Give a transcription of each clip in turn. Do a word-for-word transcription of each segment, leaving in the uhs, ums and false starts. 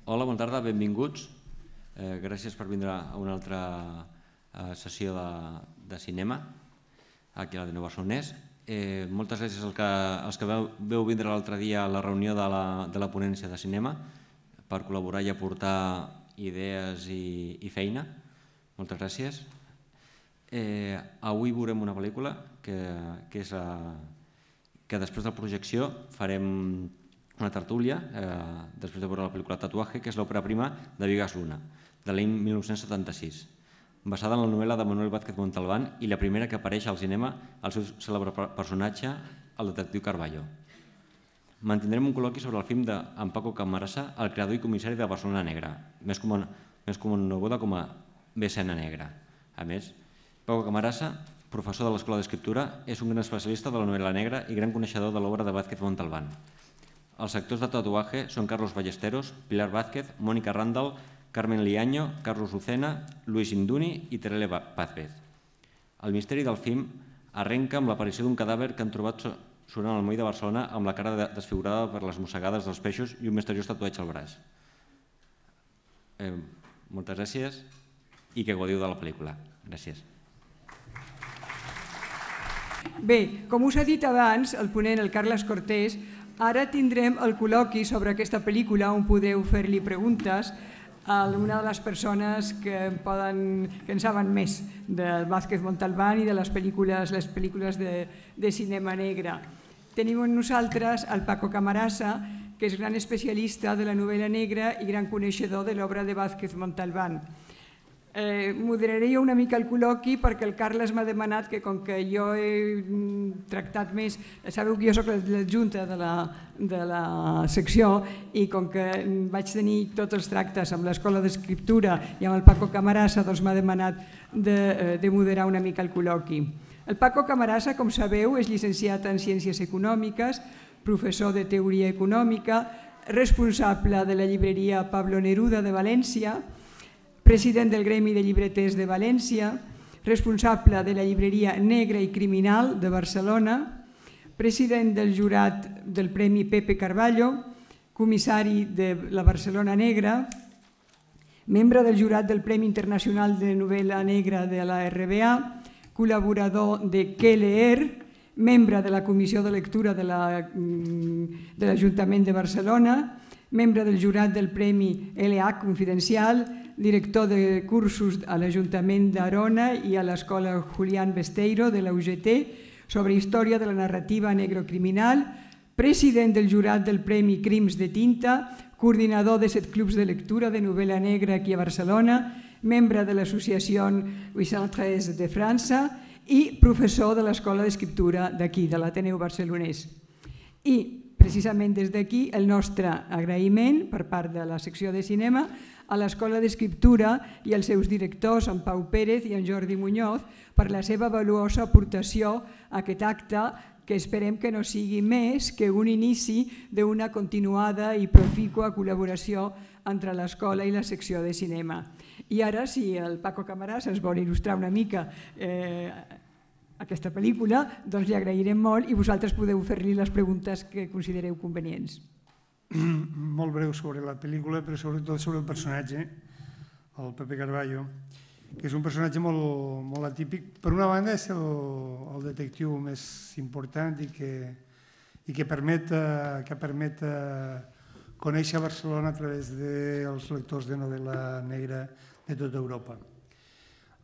Hola, bona tarda, benvinguts. Gràcies per vindre a una altra sessió de cinema aquí a l'Ateneu Barcelonès. Moltes gràcies als que veu vindre l'altre dia a la reunió de la ponència de cinema per col·laborar i aportar idees i feina. Moltes gràcies. Avui veurem una pel·lícula que és que després de la projecció farem una tertúlia, després de veure la pel·lícula Tatuaje, que és l'òpera prima de Vigas Luna, de l'any mil nou-cents setanta-sis, basada en la novel·la de Manuel Vázquez Montalbán i la primera que apareix al cinema el seu cèlebre personatge, el detectiu Carballo. Mantindrem un col·loqui sobre el film d'en Paco Camarasa, el creador i comissari de Barcelona Negra, més coneguda com a B C N Negra. A més, Paco Camarasa, professor de l'Escola d'Escriptura, és un gran especialista de la novel·la negra i gran coneixedor de l'obra de Vázquez Montalbán. Els actors de Tatuaje són Carlos Ballesteros, Pilar Vázquez, Mónica Randall, Carmen Liaño, Carlos Lucena, Luis Induni i Terele Pazvez. El misteri del film arrenca amb l'aparició d'un cadàver que han trobat sonant al moll de Barcelona amb la cara desfigurada per les mossegades dels peixos i un misteriós tatuatge al braç. Moltes gràcies i que gaudiu de la pel·lícula. Gràcies. Bé, com us ha dit abans el ponent, el Carles Cortés, ara tindrem el col·loqui sobre aquesta pel·lícula on podreu fer-li preguntes a una de les persones que en saben més del Vázquez Montalbán i de les pel·lícules de cinema negre. Tenim amb nosaltres el Paco Camarasa, que és gran especialista de la novel·la negra i gran coneixedor de l'obra de Vázquez Montalbán. Moderaré jo una mica el col·loqui perquè el Carles m'ha demanat que com que jo he tractat més, sabeu que jo soc l'adjunta de la secció i com que vaig tenir tots els tractes amb l'Escola d'Escriptura i amb el Paco Camarasa, doncs m'ha demanat de moderar una mica el col·loqui. El Paco Camarasa, com sabeu, és llicenciat en Ciències Econòmiques, professor de Teoria Econòmica, responsable de la llibreria Pablo Neruda de València, president del Gremi de Llibreters de València, responsable de la llibreria Negra i Criminal de Barcelona, president del jurat del Premi Pepe Carballo, comissari de la Barcelona Negra, membre del jurat del Premi Internacional de Novel·la Negra de la R B A, col·laborador de Què leer, membre de la Comissió de Lectura de l'Ajuntament de Barcelona, membre del jurat del Premi L H Confidencial, director de cursos a l'Ajuntament d'Arona i a l'Escola Julián Besteiro de la U G T sobre història de la narrativa negrocriminal, president del jurat del Premi Crims de Tinta, coordinador de set clubs de lectura de novel·la negra aquí a Barcelona, membre de l'Associació vuit cents tretze de França i professor de l'Escola d'Escriptura d'aquí, de l'Ateneu Barcelonès. I precisament des d'aquí el nostre agraïment per part de la secció de cinema a l'Escola d'Escriptura i als seus directors, en Pau Pérez i en Jordi Muñoz, per la seva valuosa aportació a aquest acte que esperem que no sigui més que un inici d'una continuada i profícua col·laboració entre l'escola i la secció de cinema. I ara, si el Paco Camarasa ens vol il·lustrar una mica aquesta pel·lícula, doncs li agrairem molt i vosaltres podeu fer-li les preguntes que considereu convenients. Molt breu sobre la pel·lícula, però sobretot sobre el personatge, el Pepe Carballo, que és un personatge molt atípic. Per una banda és el detectiu més important i que permet conèixer Barcelona a través dels lectors de novel·la negra de tota Europa.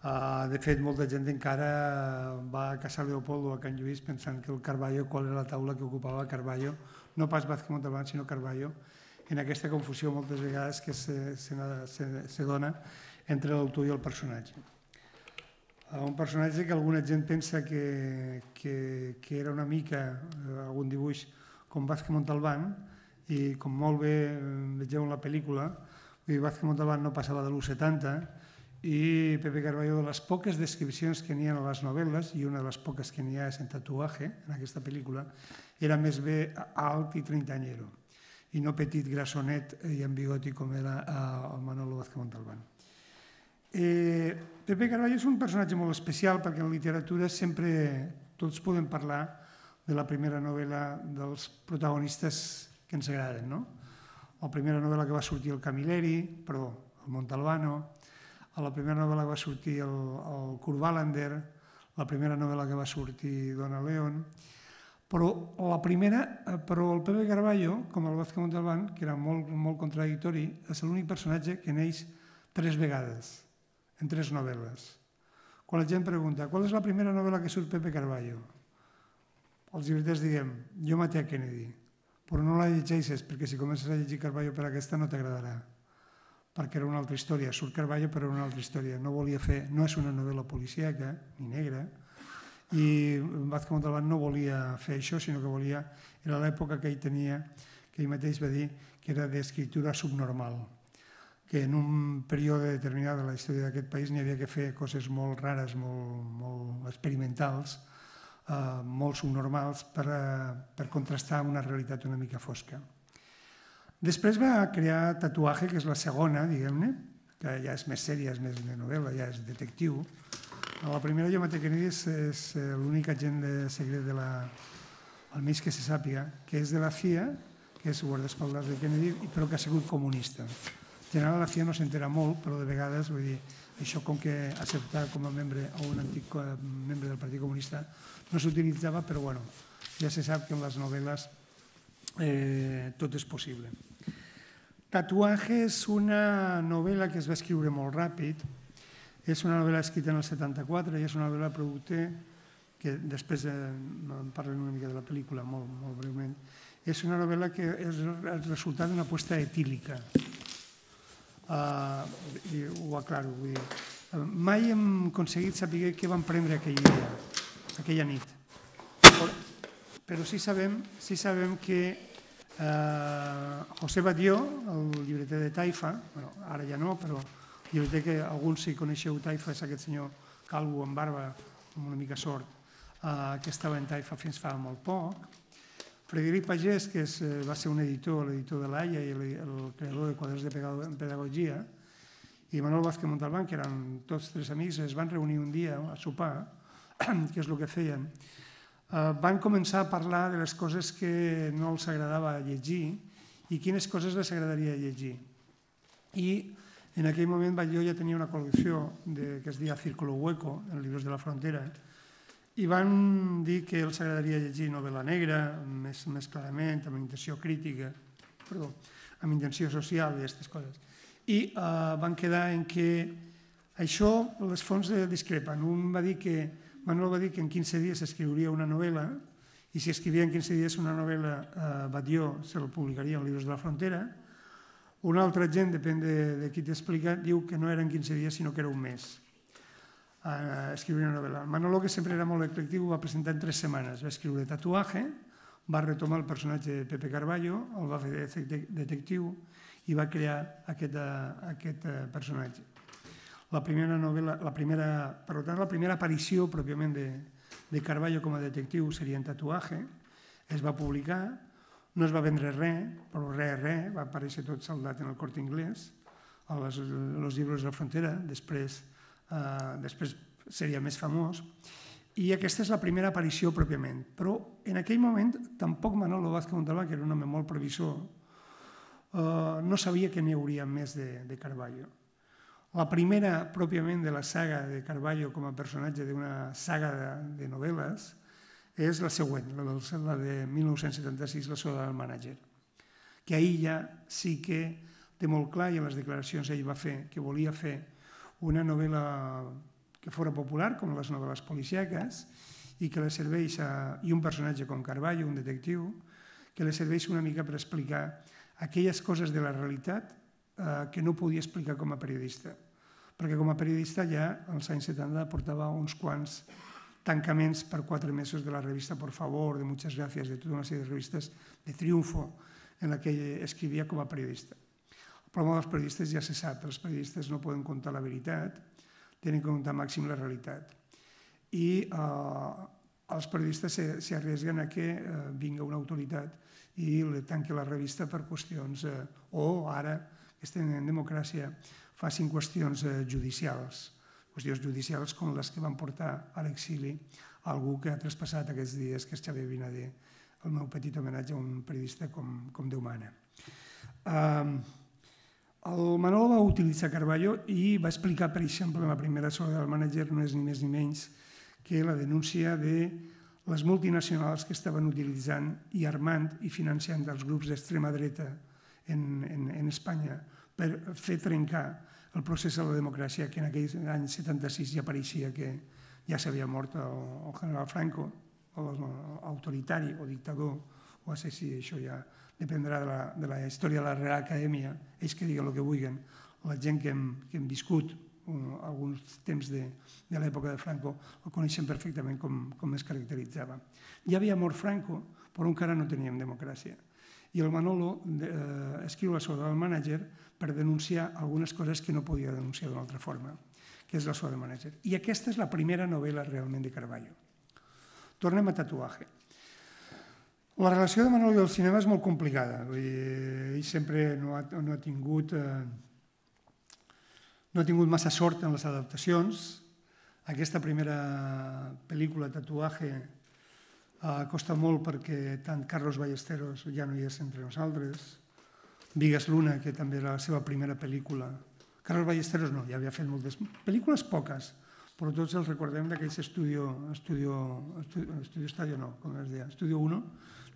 De fet, molta gent encara va a Casa Leopoldo a Can Lluís pensant que el Carballo, qual era la taula que ocupava Carballo, no pas Vázquez Montalbán, sinó Carballo, en aquesta confusió moltes vegades que se dona entre l'autor i el personatge. Un personatge que alguna gent pensa que era una mica algun dibuix com Vázquez Montalbán i com molt bé vegeu en la pel·lícula, Vázquez Montalbán no passava de l'u setanta i Pepe Carballo, de les poques descripcions que n'hi ha a les novel·les, i una de les poques que n'hi ha és en Tatuaje, en aquesta pel·lícula, era més bé alt i trintanyero, i no petit, grassonet i amb bigoti com era el Manolo Vázquez Montalbán. Pepe Carballo és un personatge molt especial perquè en literatura sempre tots podem parlar de la primera novel·la dels protagonistes que ens agraden, no? la primera novel·la que va sortir el Camilleri, però el Montalbano, la primera novel·la que va sortir el, el Kurt Wallander, la primera novel·la que va sortir Donna Leon, però la primera, però el Pepe Carballo, com el Vázquez Montalbán, que era molt, molt contradictori, és l'únic personatge que neix tres vegades, en tres novel·les. Quan la gent pregunta, qual és la primera novel·la que surt Pepe Carballo? Els llibreters diguem, jo maté a Kennedy, però no la llegeixes, perquè si comences a llegir Carballo per aquesta no t'agradarà, perquè era una altra història. Surt Carballo però era una altra història. No volia fer, no és una novel·la policíaca, ni negra, i Vázquez Montalbán no volia fer això, sinó que volia, era l'època que ell tenia, que ell mateix va dir que era d'escriptura subnormal, que en un període determinat de la història d'aquest país n'hi havia que fer coses molt rares, molt, molt experimentals, eh, molt subnormals per, per contrastar amb una realitat una mica fosca. Després va crear Tatuaje, que és la segona, diguem-ne, que ja és més sèria, és més de novel·la, ja és detectiu. La primera, Jo maté Kennedy, és, és l'únic agent de secret de la, almenys que se sàpiga, que és de la C I A, que és guardaespaldas de Kennedy, però que ha sigut comunista. En general, la C I A no s'entera molt, però de vegades, vull dir, això com que acceptar com a membre o un antic membre del Partit Comunista no s'utilitzava, però bueno, ja se sap que en les novel·les eh, tot és possible. Tatuaje és una novel·la que es va escriure molt ràpid, és una novel·la escrita en el setanta-quatre i és una novel·la producte que després eh, en parlen una mica de la pel·lícula molt, molt breument. És una novel·la que és el resultat d'una aposta etílica. Uh, i ho aclaro, vull dir, uh, mai hem aconseguit saber què van prendre aquell dia, aquella nit. Però, però sí sabem, sí sabem que uh, José Badió, el llibreter de Taifa, bueno, ara ja no, però el llibreter que alguns si coneixeu Taifa és aquest senyor calvo amb barba, amb una mica sort, uh, que estava en Taifa fins fa molt poc. Frederic Pagès, que és, va ser un editor, l'editor de l'A I A i el, el creador de quadres de pedagogia, i Manuel Vázquez Montalbán, que eren tots tres amics, es van reunir un dia a sopar, que és el que feien, uh, van començar a parlar de les coses que no els agradava llegir i quines coses les agradaria llegir. I en aquell moment Batlló ja tenia una col·lecció de, que es deia Círculo Hueco, en llibres de la frontera, i van dir que els agradaria llegir novel·la negra, més, més clarament, amb intenció crítica, perdó, amb intenció social i aquestes coses. I eh, van quedar en que això, les fonts discrepen. Un va dir que, Manuel va dir que en quinze dies escriuria una novel·la, i si escrivia en quinze dies una novel·la, eh, Batlló se'l publicaria en llibres de la frontera. Un altre gent, depèn de, de qui t'explica, diu que no era en quinze dies, sinó que era un mes. A escriure una novel·la. Manolo, que sempre era molt eclectiu, va presentar en tres setmanes. Va escriure Tatuaje, va retomar el personatge de Pepe Carballo, el va fer de detectiu i va crear aquest, aquest personatge. La primera novel·la, la primera, per tant, la primera aparició pròpiament de, de Carballo com a detectiu seria en Tatuaje, es va publicar, no es va vendre res, però res, res, va aparèixer tot saldat en el Corte Inglés, a les, els llibres de la frontera, després Uh, després seria més famós, i aquesta és la primera aparició pròpiament. Però en aquell moment tampoc Manolo Vázquez Montalbán, que era un home molt previsor, uh, no sabia que n'hi hauria més de, de Carballo. La primera pròpiament de la saga de Carballo com a personatge d'una saga de, de novel·les és la següent, la, del, la de mil nou-cents setanta-sis, La soda del mànager, que ahir ja sí que té molt clar, i en les declaracions ell va fer que volia fer una novel·la que fora popular, com les novel·les policíaques, i que li serveix a, i un personatge com Carballo, un detectiu, que li serveix una mica per explicar aquelles coses de la realitat eh, que no podia explicar com a periodista. Perquè com a periodista ja als anys setanta portava uns quants tancaments per quatre mesos de la revista Por Favor, de Muchas Gracias, de tota una sèrie de revistes de Triunfo, en la que escrivia com a periodista. El problema dels periodistes ja se sap, els periodistes no poden contar la veritat, tenen que contar màxim la realitat. I eh, els periodistes s'arriesguen a que eh, vinga una autoritat i li tanqui la revista per qüestions, eh, o ara, que estem en democràcia, facin qüestions eh, judicials, qüestions judicials com les que van portar a l'exili algú que ha traspassat aquests dies, que és Xavier Vinader, el meu petit homenatge a un periodista com, com Déu mana. El Manolo va utilitzar Carballo i va explicar, per exemple, la primera sola del mànager no és ni més ni menys que la denúncia de les multinacionals que estaven utilitzant i armant i financiant els grups d'extrema dreta en, en, en Espanya per fer trencar el procés de la democràcia, que en aquells anys setanta-sis ja pareixia que ja s'havia mort el, el general Franco, o autoritari o dictador o assassí, això ja dependrà de la, de la història de la Real Acadèmia, ells que diguen el que vulguin, la gent que hem, que hem viscut uh, alguns temps de, de l'època de Franco el coneixen perfectament com, com es caracteritzava. Ja havia mort Franco, però encara no teníem democràcia. I el Manolo eh, escriu la soda del mànager per denunciar algunes coses que no podia denunciar d'una altra forma, que és la soda del mànager. I aquesta és la primera novel·la realment de Carballo. Tornem a Tatuaje. La relació de Manolo i el cinema és molt complicada. Ell sempre no ha, no ha tingut eh, no ha tingut massa sort en les adaptacions. Aquesta primera pel·lícula, Tatuaje, eh, costa molt perquè tant Carlos Ballesteros ja no hi és entre nosaltres, Vigas Luna, que també era la seva primera pel·lícula. Carlos Ballesteros no, ja havia fet moltes pel·lícules, poques, però tots els recordem d'aquells estudio, estudio, estudio, estudio estadio, no, com es deia, estudio uno,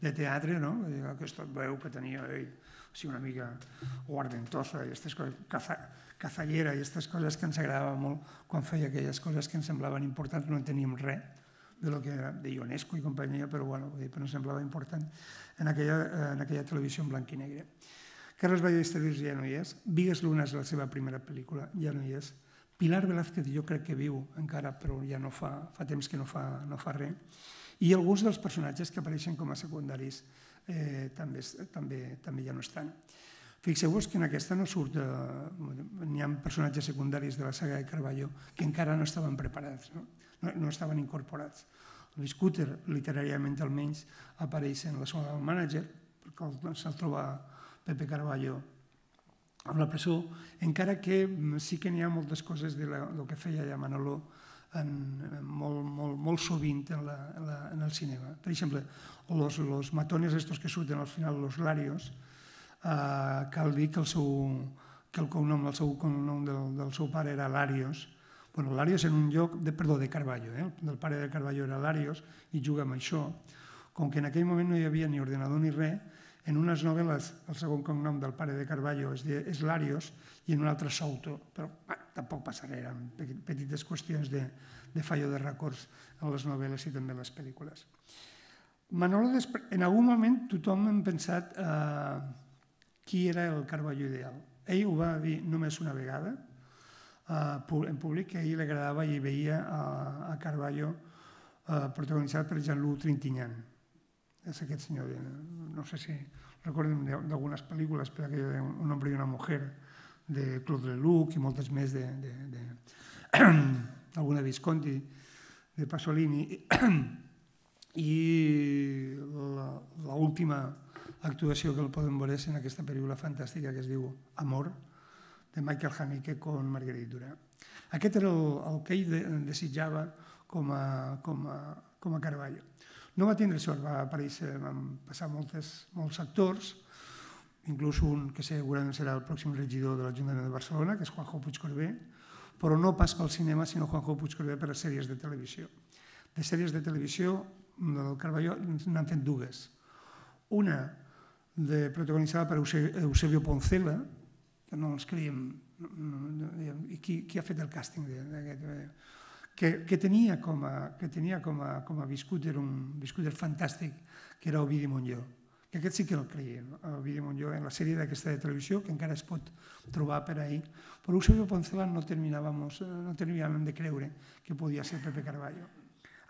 de teatre, no? Aquesta veu que tenia ell, així una mica guardentosa, i aquestes coses, caza, cazallera, i aquestes coses que ens agradaven molt quan feia aquelles coses que ens semblaven importants, no en teníem res de lo que era de Ionesco i companyia, però bueno, però no semblava important en aquella, en aquella televisió en blanc i negre. Carlos Ballesteros ja no hi és, Vigas Luna és la seva primera pel·lícula, ja no hi és, Pilar Velázquez jo crec que viu encara, però ja no fa, fa temps que no fa, no fa res, i alguns dels personatges que apareixen com a secundaris eh, també, també, també ja no estan. Fixeu-vos que en aquesta no surt, eh, n'hi ha personatges secundaris de la saga de Carballo que encara no estaven preparats, no, no, no estaven incorporats. El Scooter, literàriament almenys, apareix en la zona del mànager, perquè se'l troba Pepe Carballo amb la presó, encara que sí que n'hi ha moltes coses del que feia ja Manolo en, molt, molt, molt sovint en, la, en, la, en el cinema. Per exemple, los, los matones estos que surten al final, los Larios, eh, cal dir que el, seu, que el cognom, el seu cognom del, del seu pare era Larios. Bueno, Larios en un lloc, de, perdó, de Carballo, eh? El pare de Carballo era Larios i juga amb això. Com que en aquell moment no hi havia ni ordenador ni res, en unes novel·les el segon cognom del pare de Carballo és, de, és Larios i en un altre Souto, però bah, tampoc passa res, eren petites qüestions de, de fallo de records en les novel·les i també en les pel·lícules. Manolo, en algun moment tothom hem pensat eh, qui era el Carballo ideal. Ell ho va dir només una vegada eh, en públic, que a ell li agradava i veia a, a Carballo eh, protagonitzat per Jean-Loup Trintignant. És aquest senyor, no sé si recorden d'algunes pel·lícules, per aquell Un hombre i una mujer, de Claude Lelouch i moltes més d'alguna Visconti, de Pasolini, i l'última actuació que el podem veure és en aquesta pel·lícula fantàstica que es diu Amor, de Michael Haneke con Marguerite Duras. Aquest era el, el que ell desitjava com a, com a, com a Carballo. No va tindre sort, va aparèixer, van passar moltes, molts actors, inclús un que segurament serà el pròxim regidor de l'Ajuntament de Barcelona, que és Juanjo Puigcorbé, però no pas pel cinema, sinó Juanjo Puigcorbé per les sèries de televisió. De sèries de televisió del Carballo n'han fet dues. Una de, protagonitzada per Eusebio Poncela, que no ens creiem, no, no, i qui, qui ha fet el càsting d'aquest... Que, que tenia com a, que tenia com a, com a biscúter, un biscúter fantàstic, que era Ovidi Montllor. Que aquest sí que el creiem, Ovidi Montllor, en la sèrie d'aquesta de televisió, que encara es pot trobar per ahí. Però Eusebio Poncela no terminàvem, no terminàvem de creure que podia ser Pepe Carballo.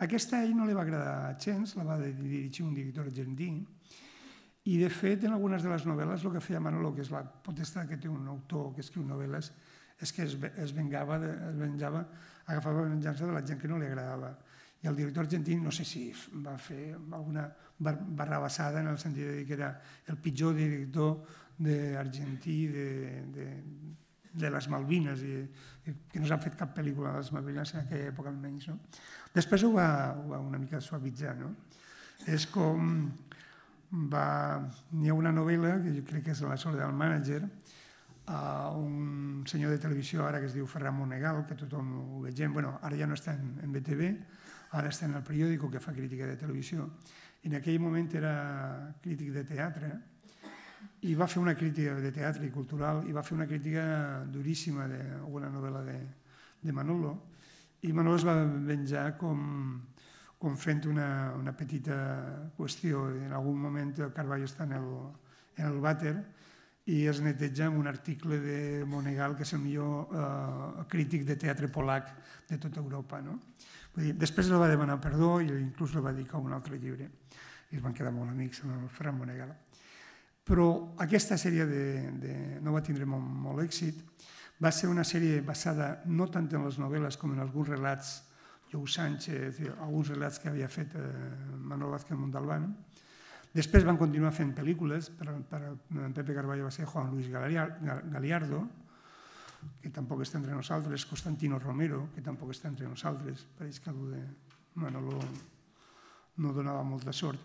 Aquesta a ell no li va agradar gens, la va dirigir un director argentí, i de fet en algunes de les novel·les el que feia Manolo, que és la potestat que té un autor que escriu novel·les, és que es, es vengava, es venjava, agafava la venjança de la gent que no li agradava. I el director argentí no sé si va fer alguna barrabassada en el sentit de dir que era el pitjor director argentí de, de, de les Malvines i, i que no s'ha fet cap pel·lícula de les Malvines en aquella època almenys. No? Després ho va, ho va una mica suavitzar. No? És com n'hi ha una novel·la, que jo crec que és La Soledad del mànager, un senyor de televisió ara que es diu Ferran Monegal, que tothom ho vegem, bueno, ara ja no està en B T V, ara està en El Periódico, que fa crítica de televisió. En aquell moment era crític de teatre i va fer una crítica de teatre i cultural i va fer una crítica duríssima d'una novel·la de Manolo, i Manolo es va venjar com com fent una petita qüestió. En algun moment el Carballo està en el vàter i es neteja amb un article de Monegal, que és el millor crític de teatre polac de tota Europa. Després el va demanar perdó i inclús el va dedicar a un altre llibre. I es van quedar molt amics amb el Ferran Monegal. Però aquesta sèrie no va tindre molt èxit. Va ser una sèrie basada no tant en les novel·les com en alguns relats, Jou Sánchez, alguns relats que havia fet Manuel Vázquez Montalbán. Després van continuar fent pel·lícules, per Pepe Carballo va ser Juan Luis Galiardo, que tampoc està entre nosaltres, Constantino Romero, que tampoc està entre nosaltres, pareix que algú de Manolo no donava molta sort.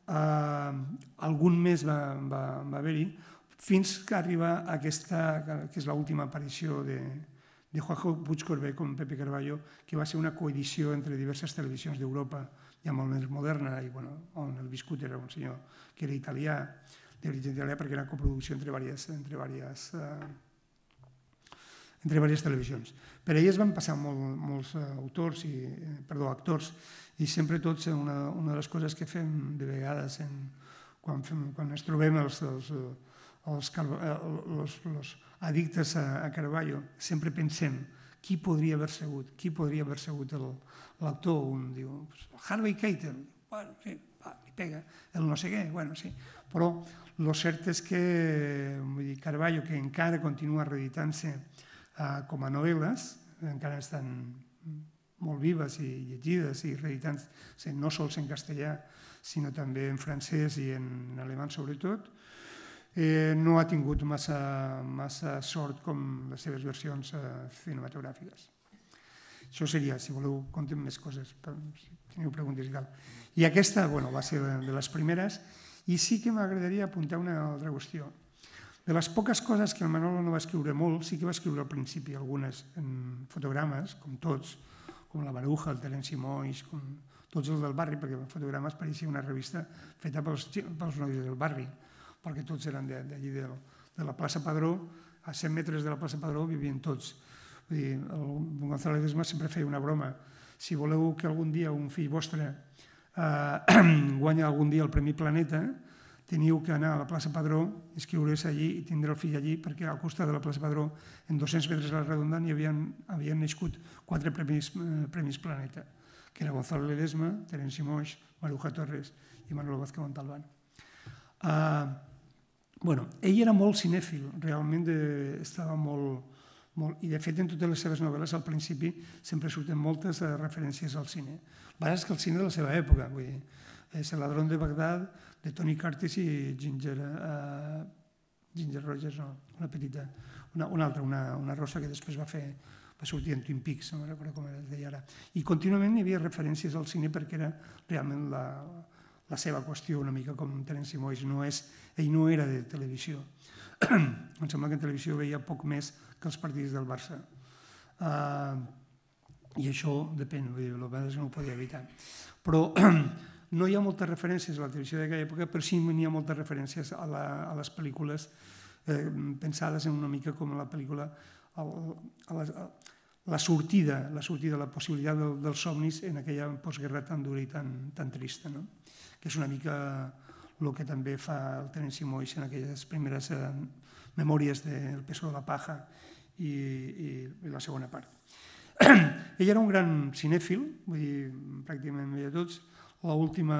Algun més va haver-hi, fins que arriba aquesta, que és l'última aparició de de Juanjo Puigcorbé com Pepe Carballo, que va ser una coedició entre diverses televisions d'Europa, ja molt més moderna, i on el viscut era un senyor que era italià, d'origen italià, perquè era coproducció entre diverses televisions. Per elles van passar molts autors, perdó, actors, i sempre tots, una de les coses que fem de vegades quan ens trobem els els addictes a Carballo, sempre pensem qui podria haver sigut, qui podria haver sigut l'actor. Un diu, Harvey Keitel, bueno, sí, li pega, el no sé què, bueno, sí. Però el cert és que Carballo, que encara continua reeditant-se com a novel·les, encara estan molt vives i llegides i reeditant-se no sols en castellà, sinó també en francès i en alemany sobretot, no ha tingut massa sort com les seves versions cinematogràfiques. Això seria, si voleu, contem més coses, si teniu preguntes i tal. I aquesta va ser de les primeres, i sí que m'agradaria apuntar una altra qüestió. De les poques coses que el Manolo no va escriure molt, sí que va escriure al principi algunes en fotogrames, com tots, com la Maruja, el Terenci Moix, com tots els del barri, perquè Fotogrames pareixia una revista feta pels nois del barri, perquè tots eren d'allí de la plaça Padró, a cent metres de la plaça Padró vivien tots. El Gonzalo Ledesma sempre feia una broma. Si voleu que algun dia un fill vostre guanyi algun dia el Premi Planeta, teniu que anar a la plaça Padró, inscriure's allí i tindre el fill allí, perquè al costat de la plaça Padró, en dos-cents metres a la redonda, hi havien nascut quatre Premis Planeta, que era Gonzalo Ledesma, Terenci Moix, Maruja Torres i Manuel Vázquez Montalbán. Bueno, ell era molt cinèfil, realment estava molt... I de fet en totes les seves novel·les al principi sempre surten moltes referències al cine. A vegades que el cine de la seva època, vull dir, és El ladrón de Bagdad, de Tony Curtis i Ginger Rogers, no, una petita, una altra, una rossa que després va fer, va sortir en Twin Peaks, no recordo com es deia ara. I contínuament hi havia referències al cine perquè era realment la... la seva qüestió, una mica com Terenci Moix. Ell no era de televisió. Em sembla que en televisió veia poc més que els partits del Barça. I això depèn, a vegades no ho podia evitar. Però no hi ha moltes referències a la televisió d'aquella època, però sí n'hi ha moltes referències a les pel·lícules pensades en una mica com la pel·lícula, la sortida, la sortida, la possibilitat dels somnis en aquella postguerra tan dura i tan trista, que és una mica el que també fa el Terenci Moix en aquelles primeres memòries del Peso de la Paja i la segona part. Ell era un gran cinèfil, vull dir, pràcticament veia tots. L'última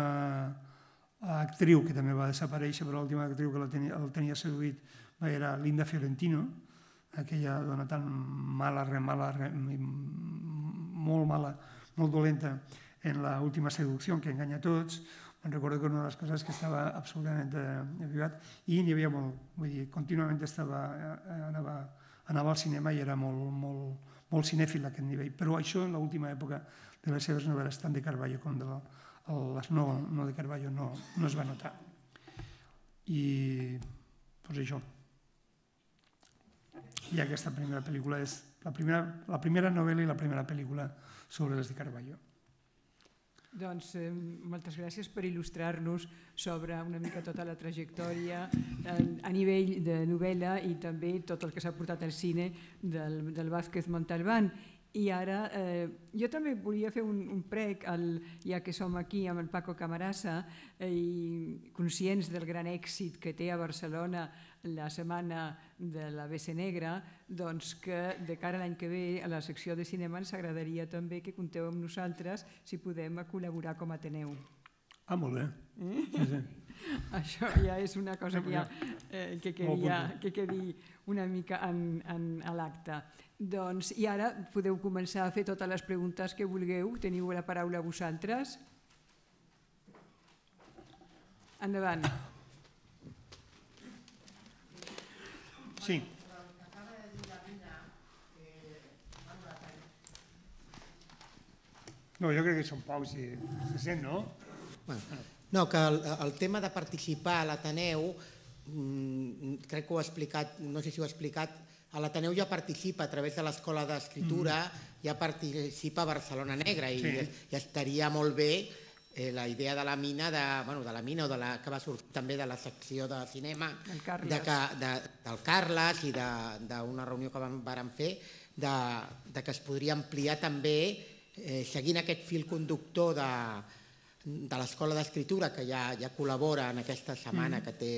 actriu, que també va desaparèixer, però l'última actriu que el tenia seduït era Linda Fiorentino, aquella dona tan mala, mala, molt mala, molt dolenta en l'última seducció, que enganya a tots. Em recordo que una de les coses que estava absolutament avivat, i n'hi havia molt, vull dir, contínuament anava al cinema i era molt cinèfil a aquest nivell, però això en l'última època de les seves novel·les, tant de Carballo com de les no de Carballo, no es va notar. I doncs això. I aquesta primera pel·lícula és la primera, la primera novel·la i la primera pel·lícula sobre les de Carballo. Doncs eh, moltes gràcies per il·lustrar-nos sobre una mica tota la trajectòria eh, a nivell de novel·la i també tot el que s'ha portat al cine del, del Vázquez Montalbán. I ara eh, jo també volia fer un, un prec, al, ja que som aquí amb el Paco Camarasa eh, i conscients del gran èxit que té a Barcelona la setmana de la B C Negra, doncs que de cara a l'any que ve a la secció de cinema ens agradaria també que compteu amb nosaltres si podem col·laborar com a Ateneu. Ah, molt bé. Eh? Sí, sí. Això ja és una cosa que, ja, eh, que queria que quedi una mica en, en, a l'acte. Doncs, i ara podeu començar a fer totes les preguntes que vulgueu. Teniu la paraula vosaltres. Endavant. Sí. No, jo crec que són pocs i se sent, no? Bueno, no, que el, el tema de participar a l'Ateneu, mmm, crec que ho ha explicat, no sé si ho ha explicat, a l'Ateneu ja participa a través de l'Escola d'Escriptura, mm. ja participa a Barcelona Negra i, sí. i estaria molt bé eh, la idea de la mina, de, bueno, de la mina o de la, que va sortir també de la secció de cinema de que, de, del Carles i d'una reunió que vam, vam fer de, de que es podria ampliar també eh, seguint aquest fil conductor de de l'Escola d'Escriptura, que ja, ja col·labora en aquesta setmana, que té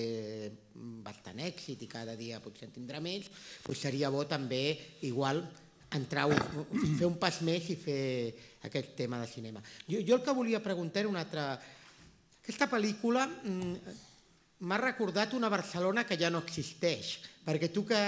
bastant èxit i cada dia potser en tindrà més, doncs seria bo també, igual, entrar, fer un pas més i fer aquest tema de cinema. Jo, jo el que volia preguntar era una altra... Aquesta pel·lícula m'ha recordat una Barcelona que ja no existeix, perquè tu que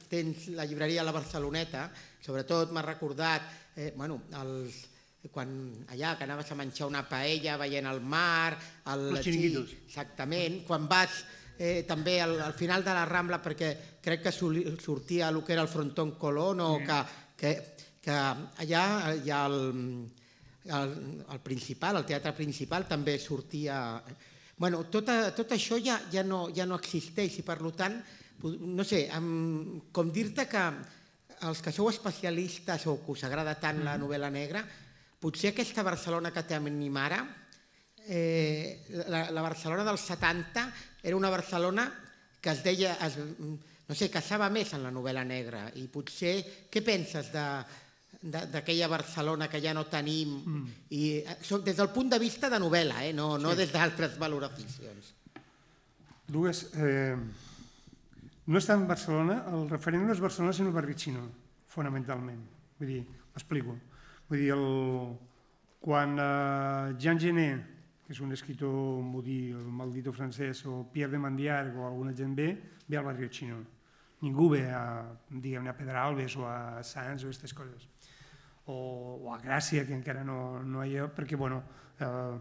tens la llibreria a la Barceloneta, sobretot m'ha recordat eh, bueno, els... quan allà que anaves a menjar una paella veient el mar, el, els xiringuitos. Sí, exactament, quan vas eh, també al, al final de la Rambla, perquè crec que sortia el que era el frontón Colón, o sí. que, que, que allà hi ha el, el, el principal, el teatre principal també sortia... Bueno, tot, tot això ja, ja, no, ja no existeix i per tant, no sé, amb, com dir-te que els que sou especialistes o que us agrada tant la novel·la negra, potser aquesta Barcelona que tenim ara, eh, la, la Barcelona dels setanta, era una Barcelona que es deia, es, no sé, caçava més en la novel·la negra. I potser, què penses d'aquella Barcelona que ja no tenim? Mm. I, des del punt de vista de novel·la, eh, no, no sí. des d'altres valoracions. Dues, eh, no està en Barcelona, el referent no és Barcelona, sinó Barricino, fonamentalment. Vull dir, m'explico. Vull dir, el, quan uh, Jean Genet, que és un escriptor mudí, el maldito francès, o Pierre de Mandiarc o alguna gent ve, ve al barri xino. Ningú ve a, diguem-ne, a Pedralbes o a Sants o aquestes coses. O, o a Gràcia, que encara no, no hi ha, perquè, bueno, uh,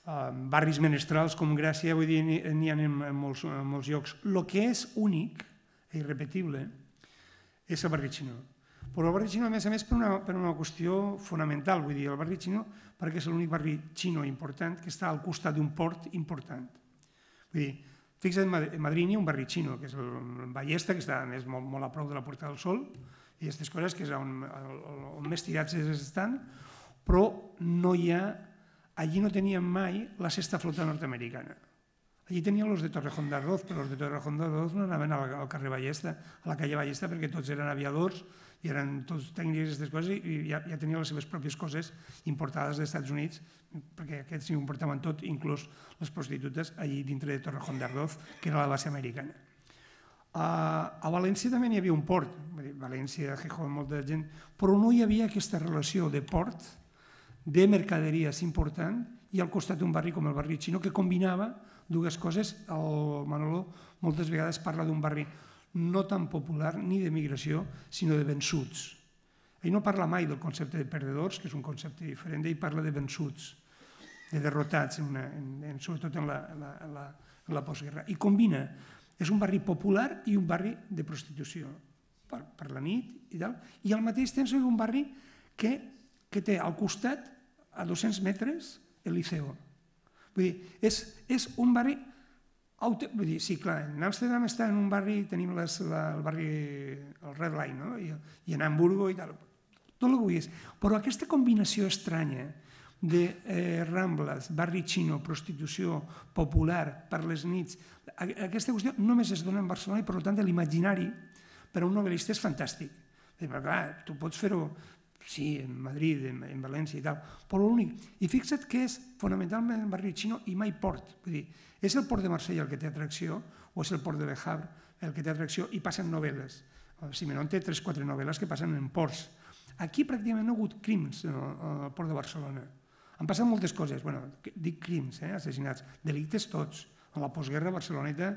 uh, barris menestrals com Gràcia, vull dir, n'hi ha en molts, en molts llocs. El que és únic i irrepetible és el barri xino. Però el barri xino, a més a més, per una, per una qüestió fonamental. Vull dir, el barri xino, perquè és l'únic barri xino important que està al costat d'un port important. Vull dir, fixa't, a Madrid hi ha un barri xino, que és el Ballesta, que està més, molt, molt a prop de la Puerta del Sol, i aquestes coses que és on, on més tirats estan, però no hi ha, allí no teníem mai la sexta flota nord-americana. Allí tenien els de Torrejón de Ardoz, però els de Torrejón de Ardoz no anaven al, al carrer Ballesta, a la calle Ballesta, perquè tots eren aviadors i eren tots tècnics d'aquestes coses i ja, ja tenien les seves pròpies coses importades dels Estats Units, perquè aquests s'hi importaven tot, inclús les prostitutes, allí dintre de Torrejón de Ardoz, que era la base americana. A, a València també n'hi havia un port, València, Gijón, molta gent, però no hi havia aquesta relació de port, de mercaderies important, i al costat d'un barri com el barri xino, que combinava dues coses. El Manolo moltes vegades parla d'un barri no tan popular ni de migració, sinó de vençuts. Ell no parla mai del concepte de perdedors, que és un concepte diferent, ell parla de vençuts, de derrotats, en una, en, en, sobretot en la, en, la, en, la, en la postguerra. I combina, és un barri popular i un barri de prostitució, per, per la nit i tal, i al mateix temps és un barri que, que té al costat, a dos-cents metres, el Liceo. Vull dir, és, és un barri Vull dir, sí, clar, en Amsterdam està en un barri, tenim les, la, el barri, el Red Line, no? I, i en Hamburgo i tal, tot el que vulguis. Però aquesta combinació estranya de eh, Rambles, barri xino, prostitució, popular, per les nits, aquesta qüestió només es dona en Barcelona i, per tant, l'imaginari per a un novel·lista és fantàstic. Però, clar, tu pots fer-ho, sí, en Madrid, en, en València i tal, però l'únic. I fixa't que és fonamentalment barri xino i mai port. Vull dir, és el port de Marsella el que té atracció o és el port de Le Havre el que té atracció i passen novel·les. Simenon té tres o quatre novel·les que passen en ports. Aquí pràcticament no ha hagut crims al port de Barcelona. Han passat moltes coses, bueno, dic crims, eh, assassinats, delictes tots. En la postguerra barceloneta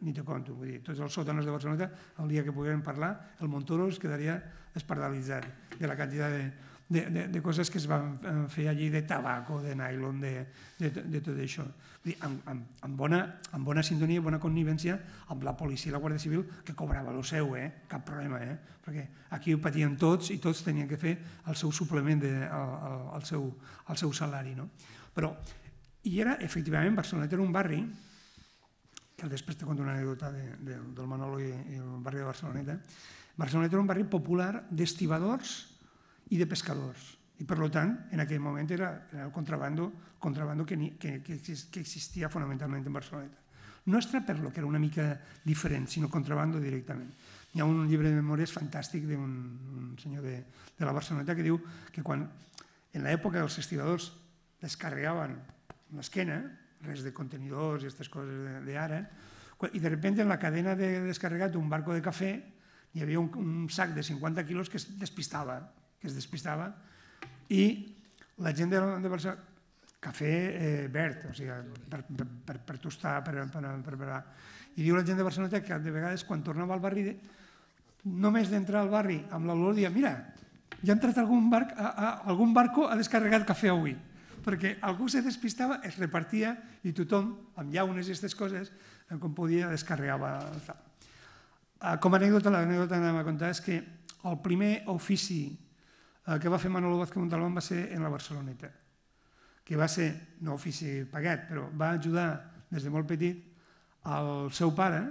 ni te conto, vull dir, tots els sòtanos de Barceloneta, el dia que puguem parlar, el Montoro es quedaria espardalitzat de la quantitat de, de, de, de coses que es van fer allí, de tabaco, de nylon, de, de, de tot això. Vull dir, amb, amb, amb, bona, amb bona sintonia, bona connivència amb la policia i la Guàrdia Civil, que cobrava el seu, eh? Cap problema, eh? Perquè aquí ho patien tots i tots tenien que fer el seu suplement, de, el, el, el, seu, el seu salari. No? Però, i era, efectivament, Barceloneta era un barri, que després te conto una anècdota de, de, del Manolo i, i el barri de Barceloneta. Barceloneta era un barri popular d'estibadors i de pescadors. I, per tant, en aquell moment era, era el contrabando, contrabando que, que, que, que existia fonamentalment en Barceloneta. No extraperlo, que era una mica diferent, sinó contrabando directament. Hi ha un llibre de memòries fantàstic d'un un senyor de, de la Barceloneta que diu que quan, en l'època dels estibadors, descarregaven l'esquena, res de contenidors i aquestes coses d'ara, i de sobte en la cadena de descarregat d'un barco de cafè hi havia un, un sac de cinquanta quilos que es despistava, que es despistava, i la gent de, de Barcelona, cafè eh, verd, o sigui, per, per, per, per tostar, per, per, per preparar. I diu la gent de Barcelona que de vegades quan tornava al barri, només d'entrar al barri amb l'olor, dia, mira, ja ha entrat algun, barc, a, a, algun barco ha descarregat cafè avui, perquè algú se despistava, es repartia i tothom, amb llaunes i aquestes coses, com podia, descarregava. Com a anècdota, l'anècdota que anem a contar és que el primer ofici que va fer Manolo Vázquez Montalbán va ser en la Barceloneta, que va ser, no ofici pagat, però va ajudar des de molt petit al seu pare,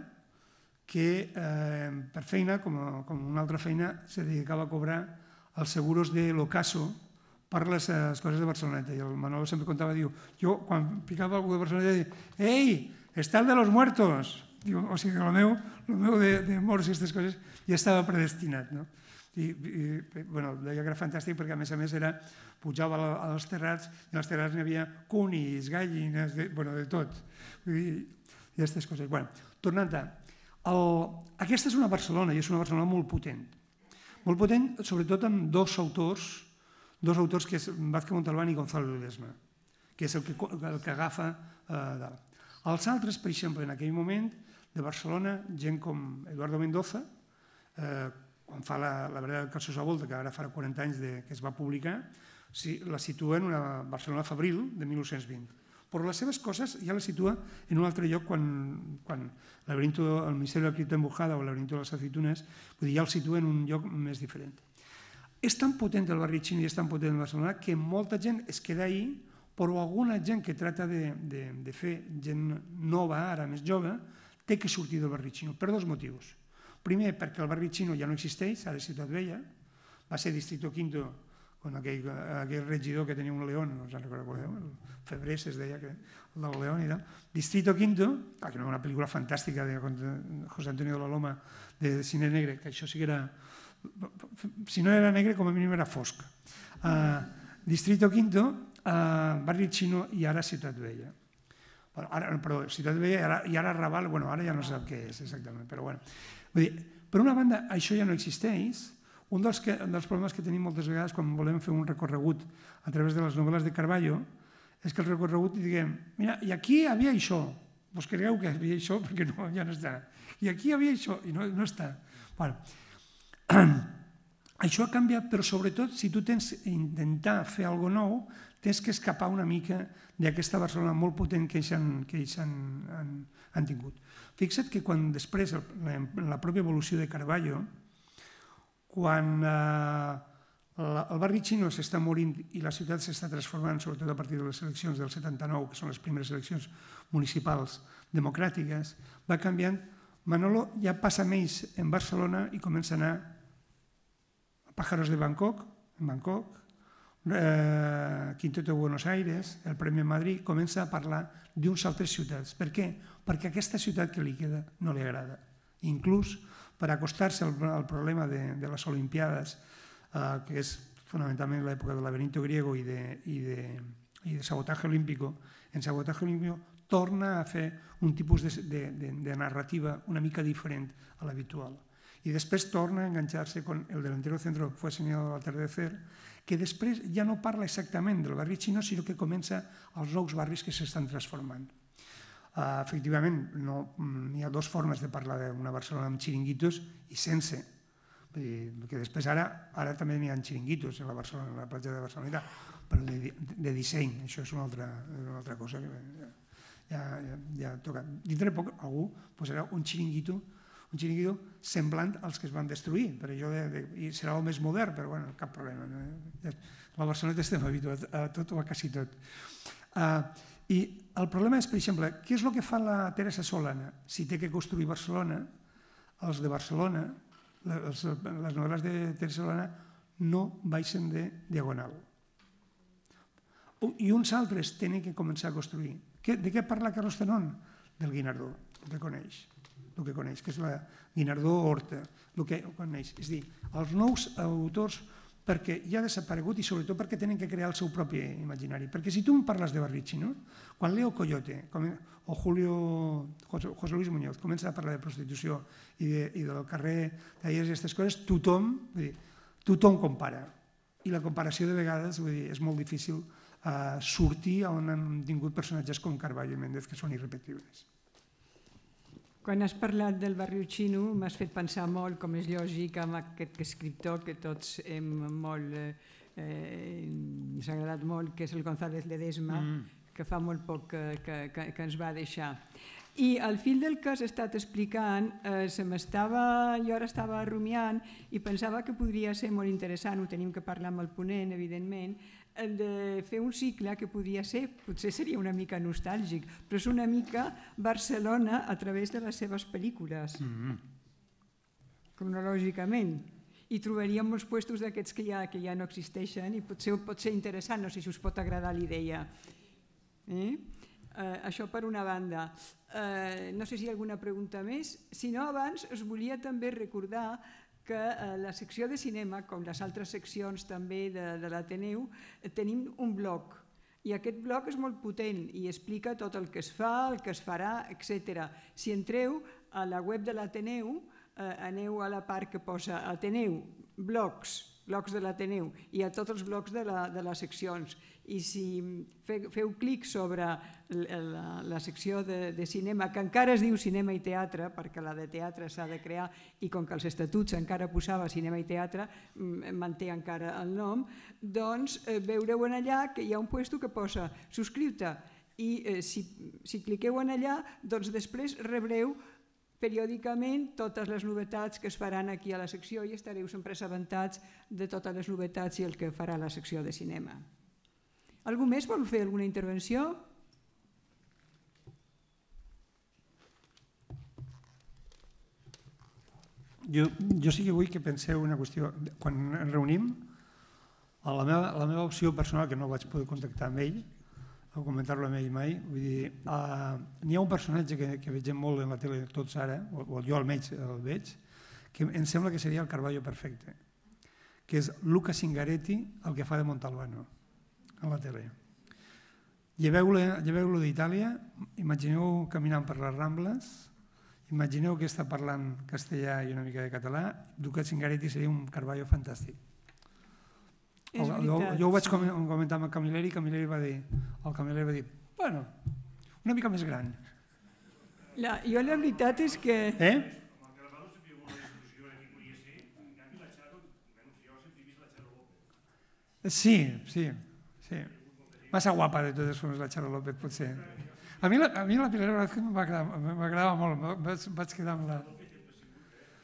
que eh, per feina, com, a, com una altra feina, se dedicava a cobrar els seguros de l'Ocaso per les coses de Barceloneta. I el Manolo sempre contava, diu, jo quan picava algú de Barceloneta, diu, ei, està el de los muertos. Diu, o sigui, el meu, el meu de, de morts i aquestes coses ja estava predestinat. No? I, i bueno, deia que era fantàstic perquè a més a més era, pujava als terrats i als terrats n'hi havia cunis, gallines, de, bueno, de tot. I, i aquestes coses. Bueno, tornant a... El, aquesta és una Barcelona i és una Barcelona molt potent. Molt potent, sobretot amb dos autors, dos autors que és Vázquez Montalbán i Gonzalo Ledesma, que és el que, el que agafa eh, dalt. Els altres, per exemple, en aquell moment, de Barcelona, gent com Eduardo Mendoza, eh, quan fa la, la Vereda del Calçós a Volta, que ara farà quaranta anys de, que es va publicar, si, la situa en una Barcelona fabril de mil nou-cents vint. Però les seves coses ja les situa en un altre lloc quan, quan laberinto, el Misteri de la Cripta Embujada o el laberinto de les aceitunes, vull dir, ja el situa en un lloc més diferent. És tan potent el barri xino i és tan potent el Barcelona que molta gent es queda ahí, però alguna gent que tracta de, de, de fer gent nova, ara més jove, té que sortir del barri xino per dos motius. Primer, perquè el barri xino ja no existeix, ara és Ciutat Vella, va ser Distrito Quinto, con aquell, aquell regidor que tenia un león, no us en recordeu, el Febrés es deia, que, el del león i tal. Distrito Quinto, que no era una pel·lícula fantàstica de José Antonio de la Loma, de cine negre, que això sí que era... Si no era negre, com a mínim era fosc. Uh, Distrito Quinto, uh, barri xino i ara Ciutat Vella. Bueno, ara, perdó, Ciutat Vella i ara, i ara Raval, bueno, ara ja no sap què és exactament, però bueno. Vull dir, per una banda, això ja no existeix. Un dels, que, dels problemes que tenim moltes vegades quan volem fer un recorregut a través de les novel·les de Carballo és que el recorregut diguem, mira, i aquí hi havia això, vos cregueu que hi havia això perquè no, ja no està. I aquí hi havia això i no, no està. Bueno, això ha canviat, però sobretot si tu tens intentar fer alguna cosa nou, tens que escapar una mica d'aquesta Barcelona molt potent que ells han, que ells han, han, han tingut. Fixa't que quan després, la, la pròpia evolució de Carballo, quan eh, El barri xino s'està morint i la ciutat s'està transformant, sobretot a partir de les eleccions del setanta-nou, que són les primeres eleccions municipals democràtiques, va canviant. Manolo ja passa més en Barcelona i comença a anar a Pájaros de Bangkok, en Bangkok, Quinteto de Buenos Aires, el Premi Madrid, comença a parlar d'unes altres ciutats. Per què? Perquè aquesta ciutat que li queda no li agrada. Inclús per acostar-se al problema de les Olimpiades, que és fonamentalment l'època del laberinto griego i de sabotaje olímpico, en sabotaje olímpico torna a fer un tipus de narrativa una mica diferent a l'habitual. I després torna a enganxar-se con el delantero centro fue señalado al atardecer, que després ja no parla exactament del barri xino, sinó que comença als nous barris que s'estan transformant. Efectivament, hi ha dues formes de parlar d'una Barcelona amb xiringuitos i sense. Perquè després ara també n'hi ha xiringuitos a la platja de Barcelona, però de disseny, això és una altra cosa que ja toca. Dintre de poc algú posarà un xiringuito un xiringuito semblant als que es van destruir, i serà el més modern, però bueno, cap problema. A la Barceloneta estem habituats a tot o a quasi tot. I el problema és, per exemple, què és el que fa la Teresa Solana? Si té que construir Barcelona, els de Barcelona, les novel·les de Teresa Solana no baixen de diagonal. I uns altres tenen que començar a construir. De què parla Carlos Tenón? Del Guinardó, el que coneix. el que coneix, que és la Guinardó Horta, el que coneix. És a dir, els nous autors, perquè ja ha desaparegut i sobretot perquè tenen que crear el seu propi imaginari. Perquè si tu em parles de barri xino, quan Leo Coyote o Julio José Luis Muñoz comença a parlar de prostitució i del carrer tallers i aquestes coses, tothom compara. I la comparació de vegades és molt difícil sortir on han tingut personatges com Carballo i Méndez, que són irrepetibles. Quan has parlat del barri xino m'has fet pensar molt, com és lògic, amb aquest escriptor que tots hem molt... ens ha agradat molt, que és el González Ledesma, que fa molt poc que ens va deixar. I al fil del que has estat explicant, jo ara estava rumiant i pensava que podria ser molt interessant, ho tenim que parlar amb el ponent, evidentment, de fer un cicle que podria ser, potser seria una mica nostàlgic, però és una mica Barcelona a través de les seves pel·lícules, cronològicament. I trobaríem molts puestos d'aquests que ja no existeixen i potser pot ser interessant, no sé si us pot agradar la idea. Això per una banda. No sé si hi ha alguna pregunta més. Si no, abans us volia també recordar que la secció de cinema, com les altres seccions també de l'Ateneu, tenim un blog. I aquest blog és molt potent i explica tot el que es fa, el que es farà, etcètera. Si entreu a la web de l'Ateneu, aneu a la part que posa Ateneu, blogs, blogs de l'Ateneu, i a tots els blogs de les seccions. I si feu clic sobre la secció de cinema, que encara es diu cinema i teatre, perquè la de teatre s'ha de crear, i com que els estatuts encara posava cinema i teatre, manté encara el nom, doncs veureu en allà que hi ha un puesto que posa subscriu-te, i si cliqueu en allà, doncs després rebreu periòdicament totes les novetats que es faran aquí a la secció i estareu sempre assabentats de totes les novetats i el que farà la secció de cinema. Algú més vol fer alguna intervenció? Jo sí que vull que penseu una qüestió. Quan ens reunim, la meva opció personal, que no vaig poder contactar amb ell, o comentar-lo amb ell mai, vull dir, n'hi ha un personatge que vegem molt en la tele tots ara, o jo almenys el veig, que em sembla que seria el Carballo perfecte, que és Luca Zingaretti, el que fa de Montalbano a la tele. Lleveu-lo d'Itàlia, imagineu caminant per les Rambles, imagineu que està parlant castellà i una mica de català, Luca Zingaretti seria un Carballo fantàstic. Jo ho vaig comentar amb el Camilleri i el Camilleri va dir, el Camilleri va dir, bueno, una mica més gran. Jo la veritat és que... Eh? Sí, sí, sí. Massa guapa de totes formes la Charo López, potser. A mi la Pilar Velázquez m'agradava molt, vaig quedar amb la...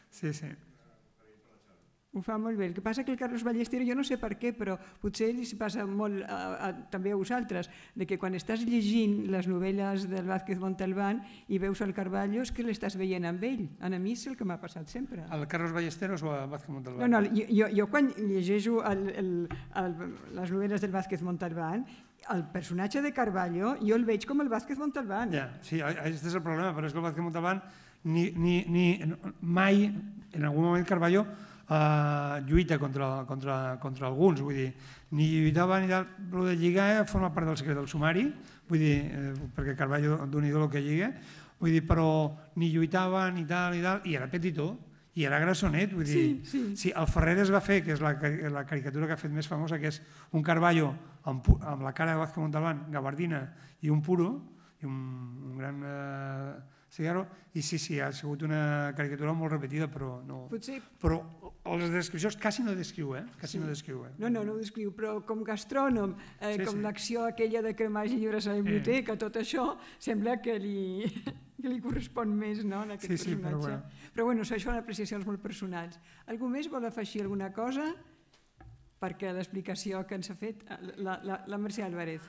Sí, sí. Ho fa molt bé. El que passa que el Carlos Ballesteros, jo no sé per què, però potser li passa molt a, a, també a vosaltres, de que quan estàs llegint les novel·les del Vázquez Montalbán i veus el Carballo és que l'estàs veient amb ell. A mi és el que m'ha passat sempre. Al Carlos Ballesteros o a Vázquez Montalbán? No, no, jo, jo quan llegeixo el, el, el, les novel·les del Vázquez Montalbán, el personatge de Carballo jo el veig com el Vázquez Montalbán. Ja, sí, aquest és el problema, però és que el Vázquez Montalbán ni, ni, ni, mai, en algun moment Carballo Uh, lluita contra, contra, contra alguns, vull dir, ni lluitava ni tal, però de lligar forma part del secret del sumari, vull dir, eh, perquè Carballo d'un idol que lliga, vull dir, però ni lluitava ni tal ni tal, i era petitó, i era grassonet, vull dir, sí, sí. Sí, el Ferreres va fer, que és la, la caricatura que ha fet més famosa, que és un Carballo amb, amb la cara de Vázquez Montalbán, gabardina i un puro, i un, un gran eh, cigarro, i sí, sí, ha sigut una caricatura molt repetida, però no... Potser... Però les descripcions quasi no descriu, eh? Quasi sí. no descriu, eh? No, no, no ho descriu, però com gastrònom, eh, sí, com sí. l'acció aquella de cremar llibres a la biblioteca, eh. tot això sembla que li, que li correspon més, no?, en aquest sí, sí, personatge. Però bueno. Però bueno, això són apreciacions molt personals. Algú més vol afegir alguna cosa? Perquè l'explicació que ens ha fet la, la, la Mercè Álvarez.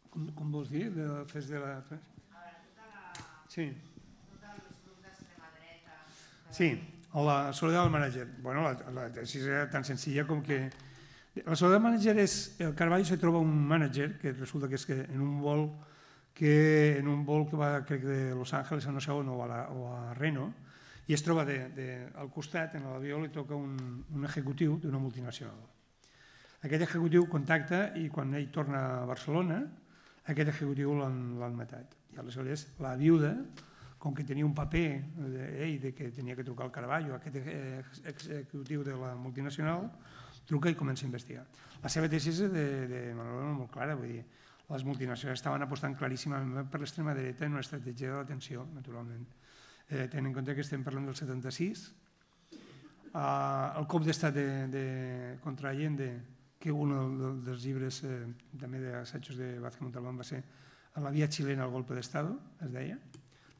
Com, com vols dir? De, fes de la... Sí. Sí, la soledat del manager. Bueno, la, la tesis era tan senzilla com que... La soledat del manager és... El Carballo se troba un manager que resulta que és que en un vol que en un vol que va, crec, de Los Ángeles a no sé on o a, la, o a Reno, i es troba de, de, al costat, en l'avió, li toca un, un executiu d'una multinacional. Aquest executiu contacta i quan ell torna a Barcelona, aquest executiu l'han matat. I aleshores la viuda, com que tenia un paper d'ell de que tenia que trucar al Carballo, aquest executiu de la multinacional, truca i comença a investigar. La seva tesi és de, de manera molt clara, vull dir, les multinacionals estaven apostant claríssimament per l'extrema dreta en una estratègia de l'atenció, naturalment. Eh, tenint en compte que estem parlant del setanta-sis, eh, el cop d'estat de, de, contra Allende, que un dels llibres eh, també d'assajos de Vázquez Montalbán va ser La via chilena al golpe d'Estado, es deia,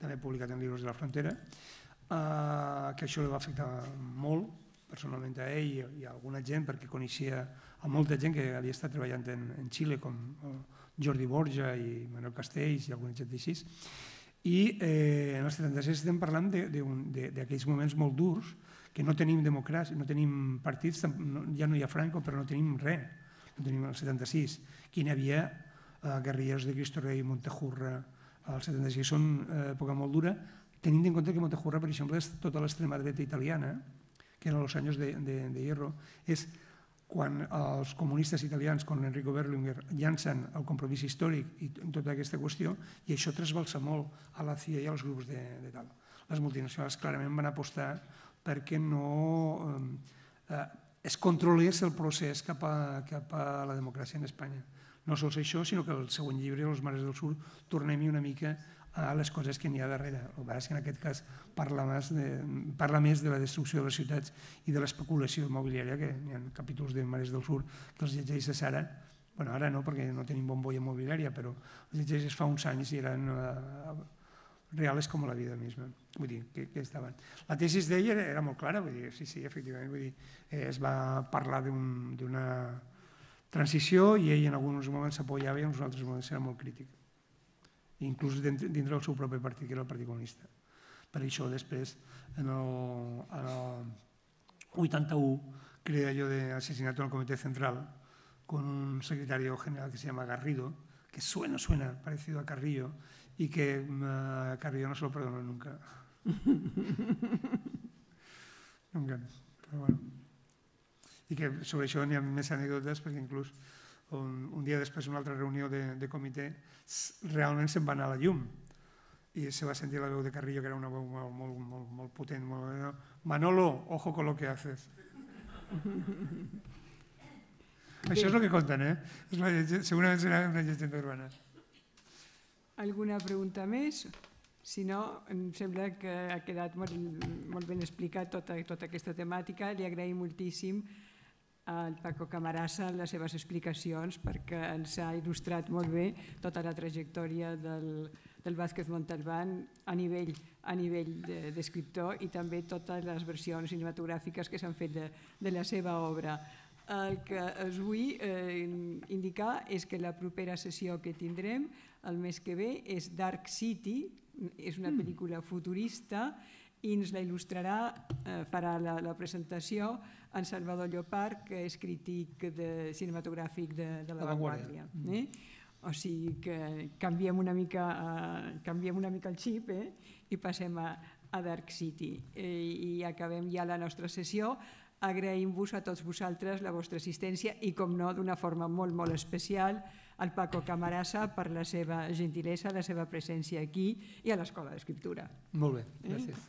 també publicat en Libros de la Frontera, eh, que això li va afectar molt, personalment a ell i a alguna gent, perquè coneixia a molta gent que havia estat treballant en, en Xile, com Jordi Borja i Manuel Castells i alguna gent d'així. I eh, en el setanta-sis estem parlant d'aquells moments molt durs, que no tenim democràcia, no tenim partits, ja no hi ha Franco, però no tenim res, no tenim el setanta-sis. Aquí n'hi havia eh, guerrilleros de Cristo Rey, Montejurra, el setanta-sis són eh, època molt dura, tenint en compte que Montejurra, per exemple, és tota l'extrema dreta italiana, que eren els anys de, de, de Hierro, és quan els comunistes italians, com Enrico Berlinguer, llancen el compromís històric i tota aquesta qüestió, i això trasbalsa molt a la C I A i als grups de, de tal. Les multinacionals clarament van apostar perquè no eh, es controlés el procés cap a, cap a la democràcia en Espanya. No sols això, sinó que el següent llibre, Els mares del sud, tornem-hi una mica a les coses que n'hi ha darrere. El que és que en aquest cas parla més, de, parla més de la destrucció de les ciutats i de l'especulació immobiliària, que hi ha capítols de Mares del Sur que els llegeixes ara, bueno, ara no, perquè no tenim bombolla immobiliària, però els llegeixes fa uns anys i eren uh, reals com la vida misma. Vull dir, que, que estaven. La tesis d'ell era, era molt clara, vull dir, sí, sí, efectivament, vull dir, eh, es va parlar d'una un, transició i ell en alguns moments s'apoyava i en uns altres moments era molt crític. Inclús dintre del seu propi partit, que era el Partit Comunista. Per això després, en el vuitanta-u, crea allò d'asesinato en el Comité Central con un secretario general que se llama Garrido, que suena, suena parecido a Carrillo, y que uh, Carrillo no se lo perdonó nunca. Nunca, però bueno. I que sobre això n'hi ha més anècdotes, perquè inclús un, un dia després d'una altra reunió de, de comitè realment se'n va anar a la llum i se va sentir la veu de Carrillo, que era una veu molt, molt, molt, molt potent, molt... Manolo, ojo con lo que haces. Això és el que conten, eh? Segurament serà una llegenda urbana. Alguna pregunta més? Si no, em sembla que ha quedat molt, molt ben explicat tota, tota aquesta temàtica. Li agraïm moltíssim al Paco Camarasa les seves explicacions, perquè ens ha il·lustrat molt bé tota la trajectòria del, del Vázquez Montalbán a nivell, a nivell d'escriptor i també totes les versions cinematogràfiques que s'han fet de, de la seva obra. El que us vull eh, indicar és que la propera sessió que tindrem el mes que ve és Dark City, és una pel·lícula futurista i ens la il·lustrarà, eh, farà la, la presentació en Salvador Llopart, que és crític de, cinematogràfic de, de La Vanguardia. Eh? O sigui que canviem una mica, uh, canviem una mica el xip eh? I passem a, a Dark City. Eh, I acabem ja la nostra sessió. Agraïm-vos a tots vosaltres la vostra assistència i, com no, d'una forma molt, molt especial al Paco Camarasa per la seva gentilesa, la seva presència aquí i a l'Escola d'Escriptura. Molt bé, gràcies.